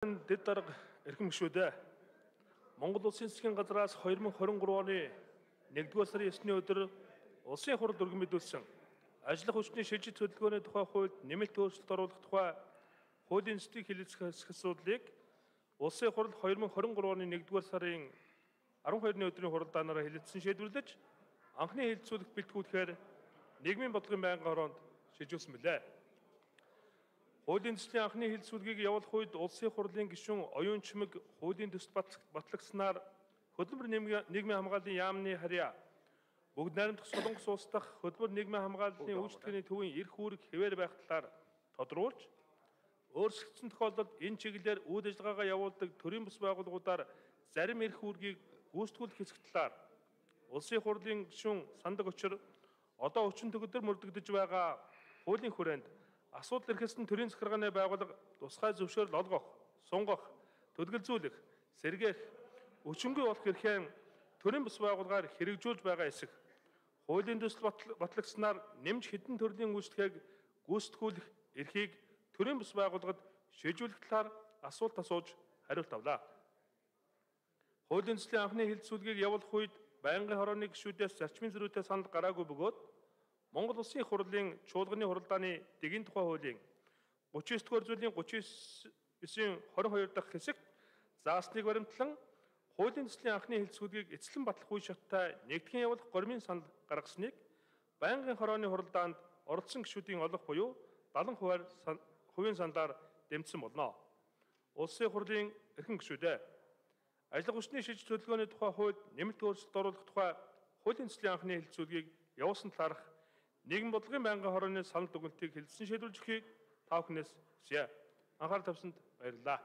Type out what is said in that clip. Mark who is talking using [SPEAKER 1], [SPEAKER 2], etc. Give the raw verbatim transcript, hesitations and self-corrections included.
[SPEAKER 1] Дэд дарга эрхэм гишүүдээ Монгол Улсын засгийн газраас two thousand twenty-three оны нэгдүгээр сарын есний өдөр улсын хурал өргөн мэдүүлсэн ажиллах хүчний шилжиж хөдөлгөөний тухай хуульд нэмэлт өөрчлөлт оруулах тухай хуулийн зүйн хэлэлцэх асуудлыг улсын хурал two thousand twenty-three оны нэгдүгээр сарын twelve-ны өдрийн хуралдаанаараа хэлэлцсэн шийдвэрлэж анхны хэлэлцүүлэх бэлтгүүлэхээр нийгмийн бодлогын байнгын хороонд шилжүүлсэн билээ. Хуулийн төслийн анхны хэлэлцүүлгийг явуулах үед улсын хурлын гишүүн оюун чимэг хуулийн төсөлд батлагдсанаар хөдөлмөр нийгмийн хамгааллын яамны харьяа бүгд найрамдах Солонгос улс дахь хөдөлмөр нийгмийн хамгааллын үйлчлэгээний төвийн эрх үүрэг хэвээр байх талаар тодруулж, өөрчлөгдсөн тохиолдолд энэ чиглэлээр үйл ажиллагаагаа явуулдаг төрийн бус байгууллагуудаар зарим эрх үүргийг гүйцэтгүүлэх хэсэг талаар улсын хурлын гишүүн сандаг учир одоо өчигдөр төгөлдөр мөрдөгдөж байгаа хуулийн хүрээнд асуудал эрхэлсэн төрийн захиргааны байгууллага тусгай зөвшөөрөл олгох, сунгах, төлгөлзүүлэх, сэргээх, өчингүй болох эрхээ төрийн бус байгууллагаар хэрэгжүүлж байгаа эсэх, хуулийн төсөл батлагдсанаар нэмж хэдэн төрлийн үйлчлэгийг гүйцэтгүүлэх эрхийг төрийн бус байгууллагад шийдвэрлэх талаар асуулт асууж хариулт авлаа. Хуулийн төслийн анхны хэлэлцүүлгийг явуулах үед байнгын хорооны гишүүдээс зарчмын зөрүүтэй санал гараагүй бөгөөд Монгол Улсын хурлын чуулганы хуралдааны дэгийн тухай хуулийн thirty-nine дугаар зүйлийн thirty-nine twenty-two дахь хэсэгт заасныг баримтлан хуулийн төслийн анхны хэлэлцүүлгийг эцэслэн батлах үе шаттай нэгтгэн явуулах гормын санал гаргасныг байнгын хорооны хуралдаанд оролцсон гишүүдийн олох буюу seventy хувийн саналаар дэмжсэн болно. Улсын хурлын эрхэм гишүүдээ ажиллах хүчний шилжиж хөдөлгөөний тухай хууль нэмэлт өөрчлөлт оруулах тухай хуулийн төслийн анхны хэлэлцүүлгийг явуулсан талаарх нийгмийн бодлогын байнгын хорооны санал дүгнэлтийг хэлэлцэн шийдвэрлэж өгөхийг та бүхнээс хүсье. Анхаарал тавьсанд баярлалаа.